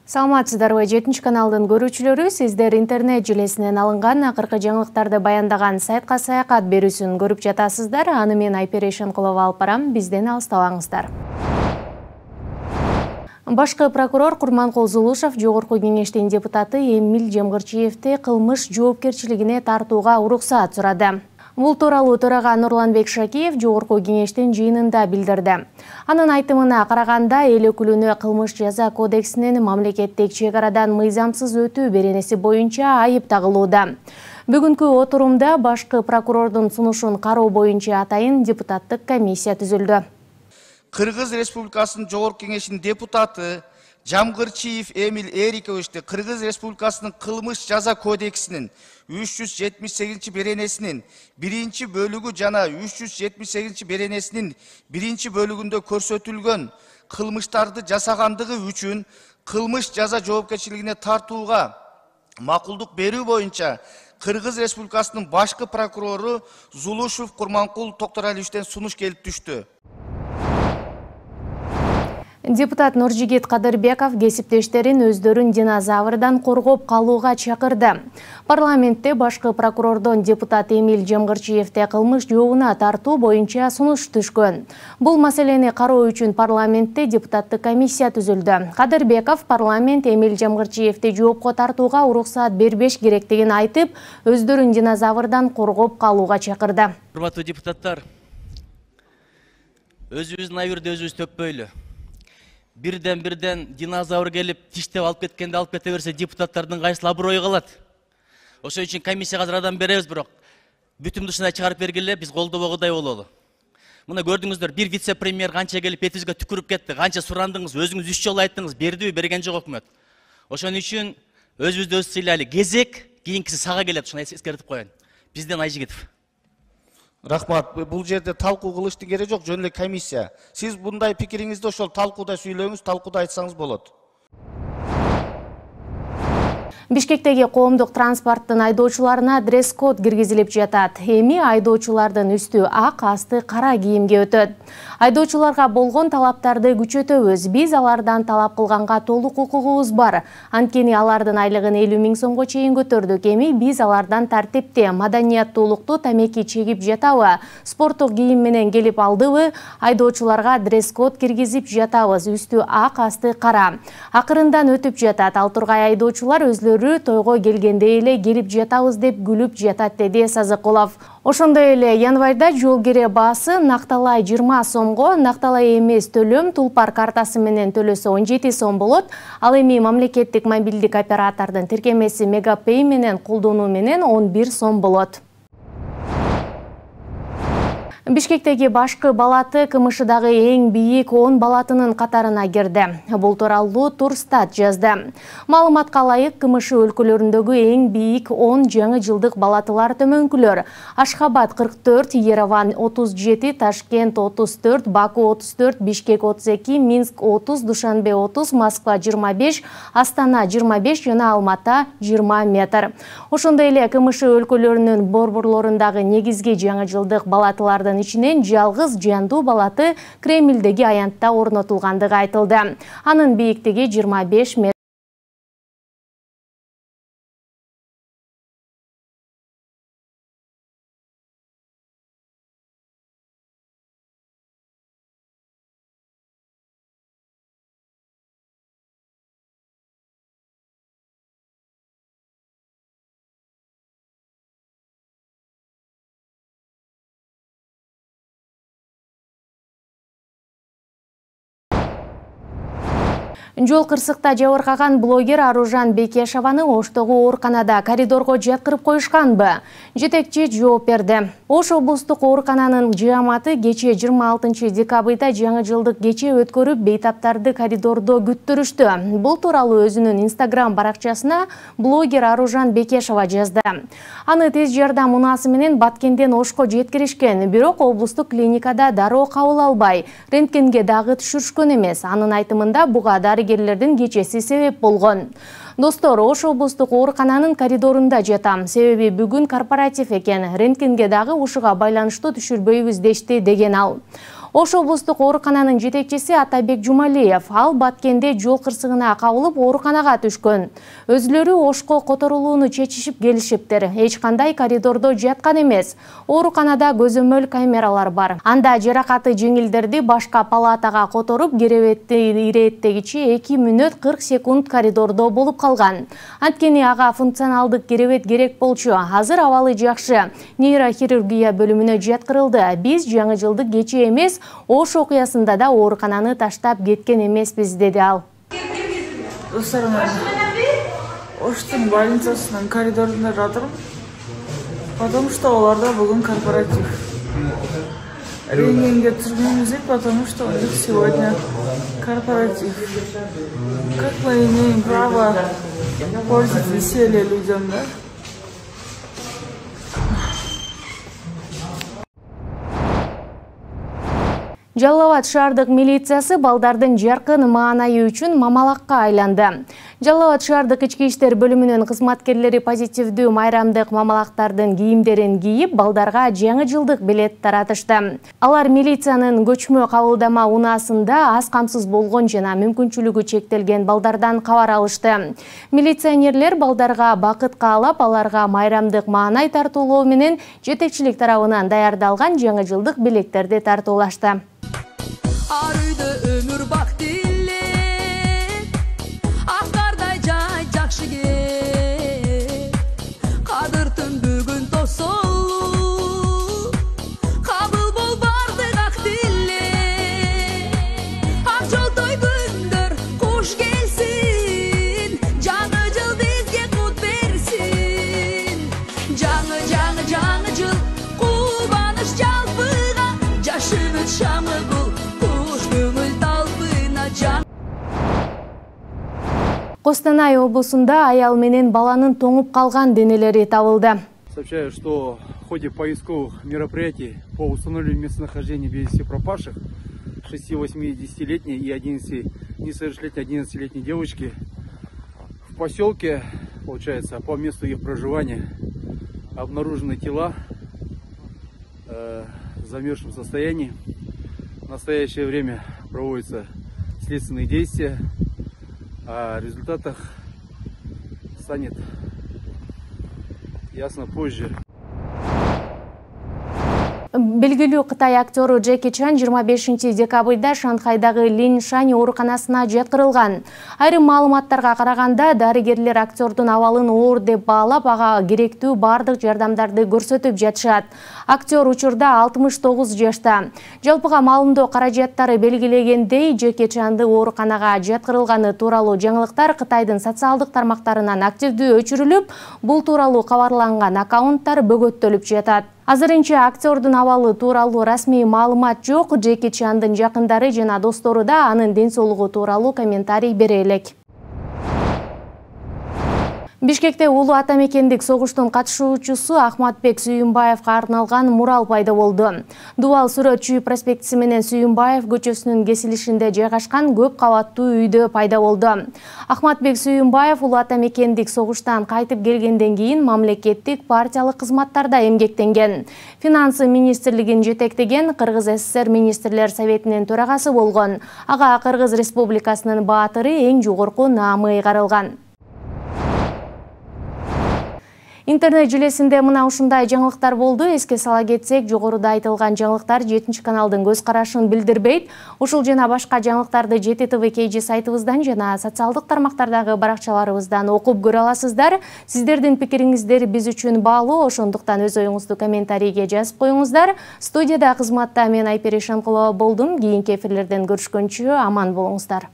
Саламатсыздарбы, 7 каналдын көрүүчүлөрү, сиздер интернет желесинен алынган акыркы жаңылыктарды баяндаган сайтка саякат берүүсүн көрүп жатасыздар. Аны мен Айпери Шенкулова алып барам, бизден алыстабаңыздар. Башкы прокурор Курманкул Зулушев Жогорку кеңештин депутаты Эмиль Жемгырчиевди кылмыш жоопкерчилигине тартууга уруксаат сурады. Бул тууралуу төрага Нурланбек Шакиев Жогорку кеңештин жыйынында билдирди. Анын айтымына караганда, эл өкүлүнө кылмыш жаза кодексинин мамлекеттик чек арадан мыйзамсыз өтүү беренеси боюнча айып тагылууда. Бүгүнкү отурумда башкы прокурордун сунушун кароо боюнча атайын депутаттык комиссия түзүлдү. Кыргыз Республикасынын Жогорку кеңешинин депутаты Жамгырчиев Эмиль Эриковичти Кыргыз Республикасынын кылмыш жаза кодексинин 378 беренесинин 1-бөлүгү жана 378 беренесинин 1-бөлүгүндө көрсөтүлгөн кылмыштарды жасагандыгы үчүн кылмыш жаза жоопкерчилигине тартууга макулдук берүү боюнча Кыргыз Республикасынын башкы прокурору Зулушев Курманкул Токторалиевичтен сунуш келип түштү. Депутат Нуржигит Кадырбеков кесиптештерин өздөрүн динозаврдан коргоп калууга чакырды. Парламентте башкы прокурордон депутат Эмиль Жемгырчиевди кылмыш жообуна тартуу боюнча сунуш түшкөн. Бул маселени кароо үчүн парламентте депутаттык комиссия түзүлдү. Кадырбеков парламент Эмиль Жемгырчиевди жоопко тартууга уруксаат бербеш керектигин айтып, өздөрүн динозаврдан коргоп калууга чакырды. Урматтуу депутаттар, өзүбүздүн айырды өзүбүз төппөйлү. Бирден динозавр келип тиштеп алып кеткенде алып кете берсе, депутаттардын кайсыл аброю калат. Ошон үчүн комиссияга азыр адам беребиз, бирок бүтүм душуна чыгарып бергиле, биз колдобогудай бололу. Мына көрдүңүздөр, бир вице-премьер канча келип бетибизге түкүрүп кетти, канча сурандыңыз, өзүңүз 3 жолу айттыңыз, бердиби, берген жок өкмөт. Ошон үчүн өзүбүздү өз сыйлайлы. Кезек кийинкиси сага келет, ушуну эскертип коеюн. Бизден Айжигитов. Рахмат, бул жерде талкуу кылыштын кереги жок, жөн эле комиссия. Сиз мындай пикириңизди ошол талкууда сүйлөңүз, талкууда айтсаңыз болот. Бишкектеги коомдук транспорттун айдоочуларына дресс-код киргизилип жатат. Эми айдоочулардын үстү ак, асты кара кийимге өтөт. Айдоочуларга болгон талаптарды күчөтөбүз. Биз алардан талап кылганга толук укугубуз бар. Анткени алардын айлыгын 50 000 сомго чейин көтөрдүк. Эми биз алардан тартипти, маданияттуулукту тамеки чегип жатабы, спорттук кийим менен келип алдыбы, айдоочуларга дресс-код киргизип жатабыз. Үстү ак, асты кара. Акырындан өтүп жатат. Ал тургай айдоочулар өзлөрү тойго келгенде эле келип жатабыз деп күлүп жатат, деди Сазыкулов. Ошондой эле январда жол кире баасы накталай 20 сомго, накталай эмес төлөм тулпар картасы менен төлөсө 17 сом болот. Ал эми мамлекеттик мобилдик оператордун тиркемеси Мегапей менен колдонуу менен 11 сом болот. Бишкектеги башкы балаты КМШдагы эң бийик 10 балатынын катарына кирди. Бул тууралуу Турстат жазды. Маалыматка ылайык, КМШ өлкөлөрүндөгү эң бийик 10 жаңы жылдык балатылар төмөнкүлөр: Ашхабад 44, Ереван 37, Ташкент 34, Баку 34, Бишкек 32, Минск 30, Душанбе 30, Москва 25, Астана 25 жана Алмата 20 метр. Ошондой эле КМШ өлкөлөрүнүн борборлорундагы негизги жаңы жылдык балатылардын ичинен жалгыз жандуу балаты Кремлдеги аянтта орнотулгандыгы айтылды. Анын бийиктиги 25 метр. Жол кырсыкта жабыркаган блогер Аружан Бекешеваны Оштогу ооруканада коридорго жаткырып коюшканбы? Жетекчи жооп берди. Ош облустук оорукананын жыаматы кечээ 26 декабрда жаңы жылдык кече өткөрүп, бейтаптарды коридордо күттүрүштү. Бул тууралуу өзүнүн Instagram баракчасына блогер Аружан Бекешева жазды. Аны тез жардам унаасы менен Баткенден Ошко жеткиришкен, бирок облустук клиникада дароо кабыл албай, рентгенге дагы түшүрүшкөн эмес. Анын айтымында буга дарыгерлердин кечеси себеп болгон. Достор, Ош облустук оорукананын коридорунда жатам. Себеби бүгүн корпоратив экен. Рентгенге дагы ушуга байланыштуу түшүрбөйбүз дешти, деген ал. Ош облустук оорукананын жетекчиси Атабек Жумалиев ал Баткенде жол кырсыгына кабылып ооруканага түшкөн. Өзүлөрү Ошко которулууну чечишип келишиптир. Эч кандай коридордо жаткан эмес. Ооруканада көзөмөл камералар бар. Анда жаракаты жеңилдерди башка палатага которуп, керебетти ирээттегичи 2 мүнөт 40 секунд коридордо болуп калган. Анткени ага функционалдык керебет керек болчу. Азыр абалы жакшы. Нейрохирургия бөлүмүнө жаткырылды. Биз жаңы жылдык кече эмес, Ош окуясында да оорукананы таштап кеткен эмеспиз, деди ал. Достарыман, Оштун больницасынын коридорунда жатырмын, потому что оларда бүгүн корпоратив. Рентгенге түшкөнбүз, потому что у них сегодня корпоратив. Как мы имеем право портить веселье людям, да? Жалал Абад шаардык милициясы балдардын жаркын маанайы үчүн мамалакка айланды. Жалал Абад шаардык ички иштер бөлүмүнүн кызматкерлери позитивдүү майрамдык мамалактардын кийимдерин кийип, балдарга жаңы жылдык билет таратышты. Алар милициянын көчмө кабылдама унаасында аз камсыз болгон жана мүмкүнчүлүгү чектелген балдардан кабар алышты. Милиционерлер балдарга бакыт каалап, аларга майрамдык маанай тартуулоо менен жетекчилик тарабынан даярдалган жаңы жылдык билектерди тартуулашты. Arıydı ömür bak dille, akarday jay jakşı gel. Kadırtın bugün tosolu, kabul bol bardık ak dille. Akçoltoy gündür kuş gelsin, жаңы жыл bizge kut versin. Жаңы жыл, kubanış çalpıga, yaşımız şamı bul. Костанай облусунда аял менен баланын тоңуп калган денелери табылды. Сообщаю, что в ходе поисковых мероприятий по установлению местонахождения без вести пропавших 6, 8, 10-летней и 11-летней девочки в поселке, получается, по месту их проживания обнаружены тела в замерзшем состоянии. В настоящее время проводятся следственные действия. О результатах станет ясно позже. Белгилүү Кытай актеру Джеки Чан 25 декабрда Шанхайдагы Линшань ооруканасына жаткырылган. Айрым маалыматтарга караганда, дарыгерлер актердун абалын оор деп баалап, ага керектүү бардык жардамдарды көрсөтүп жатышат. Актер учурда 69 жашта. Жалпыга маалымдоо каражаттары белгилегендей, Джеки Чанды ооруканага жаткырылганы тууралуу жаңылыктар Кытайдын социалдык тармактарынан активдүү өчүрүлүп, бул тууралуу кабарланган аккаунттар бөгөттөлүп жатат. Азырынча актердун абалы тууралуу расмий маалымат жок. Джеки Чандын жакындары жана достору да анын ден соолугу тууралуу комментарий бере элек. Бишкекте улуу ата мекендик согуштун катышуучусу Ахматбек Сүйүнбаевга арналган мурал пайда болду. Дубал Сүрөт Чүй проспектиси менен Сүйүнбаев көчөсүнүн кесилишинде жайгашкан көп кабаттуу үйдө пайда болду. Ахматбек Сүйүнбаев улуу ата мекендик согуштан кайтып келгенден кийин мамлекеттик партиялык кызматтарда эмгектенген. Финансы министрлигин жетектеген, Кыргыз СССР министрлер советинин төрагасы болгон. Ага Кыргыз Республикасынын баатыры эң жогорку наамы ыйгарылган. Интернет желесинде мына ушундай жаңылыктар болду. Эске сала кетсек, жогоруда айтылган жаңылыктар 7 каналдын көз карашын билдирбейт. Ушул жана башка жаңылыктарды JTTV KG сайтыбыздан жана социалдык тармактардагы баракчаларыбыздан окуп көрө аласыздар. Сиздердин пикириңиздер биз үчүн баалуу, ошондуктан өз оюңузду комментарийге жазып коюңуздар. Студияда кызматта мен Айпери Шанкулова болдум. Кийинки эфирлерден көрүшкөнчө аман болуңуздар.